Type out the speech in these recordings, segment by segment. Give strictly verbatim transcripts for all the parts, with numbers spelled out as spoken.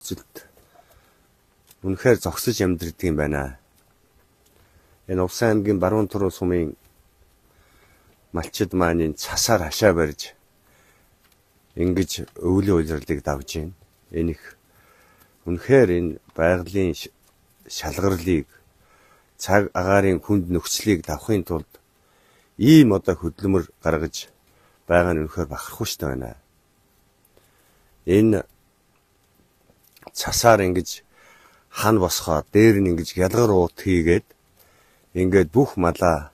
нөхцөлд үнэхээр зогсож амьдрдаг юм байна. Энэ Увсан аймгийн Баруун Туруу сумын малчид маань цасаар хашаа барьж ингэж өвлийн улирлыг давж байна. Энэ их үнэхээр энэ байгалийн шалгарлыг цаг агаарын хүнд нөхцөлийг давахын тулд ийм одоо хөдөлмөр гаргаж байгаа нь үнэхээр бахархууштай байна. Энэ цасаар ингэж хан босгоод дээр нь ингэж ялгар уут хийгээд ингээд бүх малаа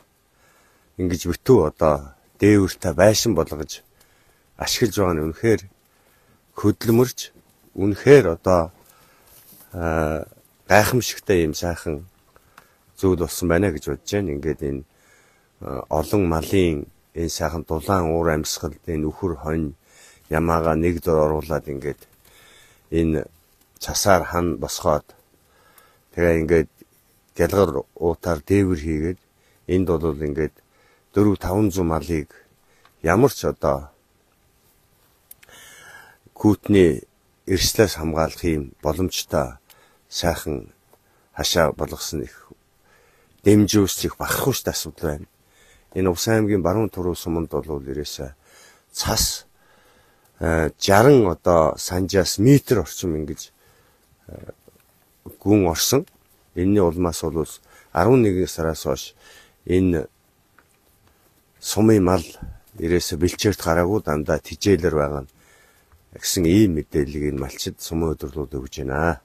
ингэж битүү одоо дээвэртэй байшин болгож ашиглаж байгаа нь үнэхээр хөдөлмөрч үнэхээр одоо гайхамшигтай юм сайхан зүйл болсон байна гэж бодож байна. Ингээд энэ олон малын энэ сайхан дулаан уур амьсгал энэ үхэр хонь ямаага нэг дор оруулаад ингээд энэ цасаар хан босгоод тэгээ ингээд гэлгар уутаар дээвэр хийгээд энд бол ингээд дөрвөн таван зуун малыг ямар ч одоо күүтний эрслээс хамгаалах юм боломжтой сайхан хашаа болгосон их дэмжүүлс их бахархууштай асуудал байна. Энэ Увсан аймгийн Баруун Туруу суманд бол ерөөсөө цас жарган одоо санжаас метр орчим ингэж гүн орсон. Энэний улмаас бол арван нэгэн сараас хойш энэ сумын мал ерөөсө бэлчээрт гараагүй дандаа тижээлэр байгаа гэсэн ийм мэдээллийг энэ малчид сумын өдөрлөд өгж байна.